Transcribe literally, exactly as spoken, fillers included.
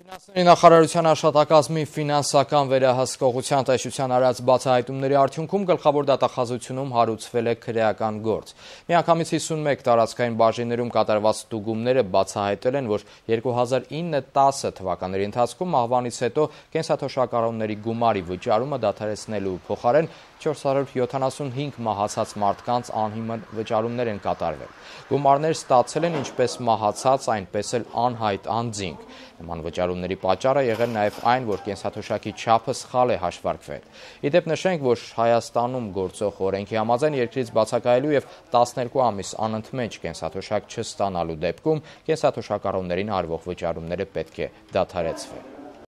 Ֆինանսների նախարարության աշխատակազմի ֆինանսական վերահսկողության տեսության արած բացահայտումների արդյունքում գլխավոր դատախազությունում հարուցվել է քրեական գործ։ Միանգամից հիսունմեկ տարածքային բաժիններում կատարված ստուգումները բացահայտել են, որ երկու հազար ինը տասը թվականների ընթացքում մահվանից հետո կենսաթոշակառուների գումարի վճարումը դադարեցնելու փոխարեն չորս հարյուր յոթանասունհինգ մահացած մարդկանց անհիմն վճարումներ են կատարվել։ Գումարներ ստացել են ինչպես մահացած, այնպես էլ անհայտ անձինք։ Նման վճարումների պատճառը եղել նաև այն, որ կենսաթոշակի չափը սխալ է հաշվարկվել։ Ի դեպ նշենք, որ Հայաստանում գործող օրենքի համաձայն երկրից բացակայելու և տասներկու ամիս անընդմեջ կենսաթոշակ չստանալու դեպքում կենսաթոշակառուներին արվող վճարումները պետք է դադարեցվեն։